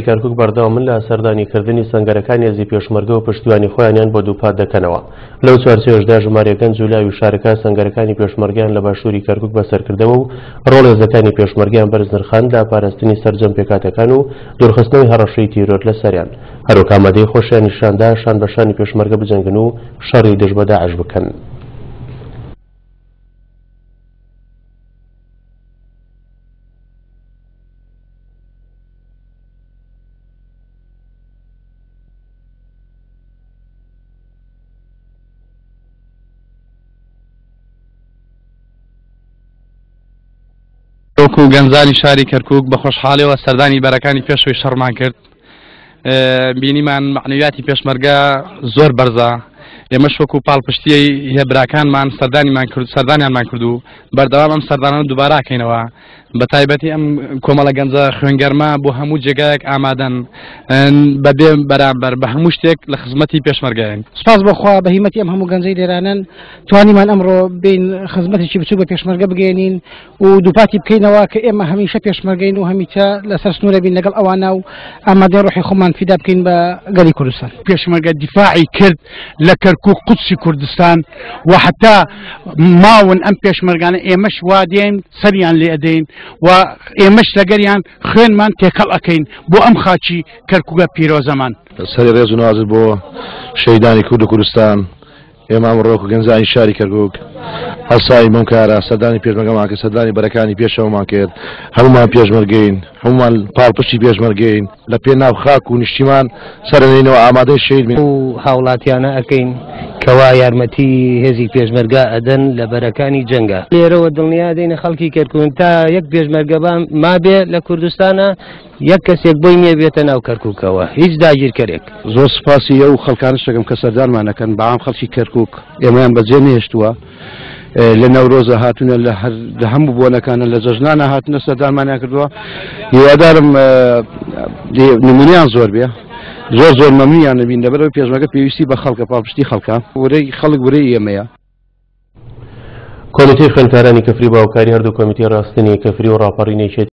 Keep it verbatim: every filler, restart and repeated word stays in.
کەرکوک بەردەوامن لە سەردانیکردنی سەنگەرەکانی هێزی پێشمەرگە و پشتیوانی خۆیانیان بۆ دووپات دەکەنەوە. لەو چوارچێوەشدا ژمارەیەک گەنج و لاوی شارەکە سەنگەرەکانی پێشمەرگەیان لە باشووری کەرکوک بەسەرکردەوە و ڕۆڵ هێزەکانی پێشمەرگەیان بەرز نرخاند لە پاراستنی سەرجەم پێکهاتەکان و دوورخستنەوەی هەڕەشەی تیرۆر لەسەریان. هەروەک ئامادەی خۆشیان نیشاندا شان بە شانی پێشمەرگە بجەنگن و شەڕی دژ بە داعش بکەن. وەکو گەنجانی شاری کەرکوک بە خۆشحاڵیەوە سەردانی بەرەکانی پێشەوەی شەڕمان کرد. بینیمان مەعنەویاتی پێشمەرگە زۆر بەرزە. ئێمەش وەکو پاڵپشتیی هێبراکانمان سەردانیمان کرد، سەردانیانمان کرد و بەردەوام ئەم سەردانە دووباراکەینەوە. بە تایبەتی ئەم کۆمەڵە گەنجە خوێنگەرمە بۆ هەموو جێگایەک ئامادەن بەبێ بەرامبەر بە هەموو شتێک لە خزمەتی پێشمەرگەیان. سپاس بۆخوا بە هیمەتی ئەم هەموو گەنجەی لێرانن توانیمان ئەمڕۆ بین خزمەتێکی بچوو بە پێشمەرگە بگەێنین و دووپاتی بکەینەوە کە ئێمە هەمیشە پێشمەرگەین و هەمیشە لەسەر سنوورە بین لەگەڵ ئەوانە و ئامادەی ڕۆحی خۆمان فیدا بکەین بە گەلی کوردستان. پێشمەرگە دیفاعی کرد لە کەرکوک قودسی کوردستان و حتا ماون ئەم پێشمەرگانە ئێمەش وا دێن سەریان لێ ئەدەین و ئێمەش لەگەریان خوێنمان تێکەڵ ئەکەین بۆ ئەم خاچی کەرکوکە پیرۆزەمان. سەری ڕێز و نازر بۆ شەهیدانی کورد و کوردستان. ئێمە ئەمڕۆ وەکو گەنجانی شاری کەرکوک هەڵساوین بەم کارە، سەردانی پێشمەرگەمان کرد، سەردانی بەرەکانی پێشەوەمان کرد. هەمومان پێشمەرگەین، هەمومان پاڵپشتی پێشمەرگەین، لە پێناو خاک و نیشتیمان سەرنێنەوە ئامادەی شەهید بین. و هاوڵاتیانە ئەکەین کەوا یارمەتی هێزی پێشمەرگە ئەدەن لە بەرەکانی جەنگە. لێرەوە دڵنیا دەینە خەڵکی کەرکوک تا یەک پێشمەرگە مابێ لە کوردستانە یەک کەسێک بۆی نییە بێتە ناو کەرکوکەوە، هیچ داگیرکەرێک. زۆر سپاسی ئەو خەڵکانش دەکەم کە سەردانمان ئەکەن. بەعام خەڵکی کەرکوک ئێمەیان بەجێ نەهێشتووە، لە نەورۆزە هاتوونە، لە هەموو بۆنەکانە، لە جەژنانە هاتوونە سەردانمانیان کردووە. هیوادارم نمونیان زۆر بێ، زۆر زۆر مەمنونیان نەبین، لەبەرەوەی پێشمەرگە پێویستی بە خەڵکە، پاڵپشتی خەڵکە، ورەی خەڵک ورەی ئێمەیە. کۆمیتەی خوێندکارانی کفری باوکاری هەردوو کۆمیتەی ڕاستنی کفری و ڕاپەڕینێکی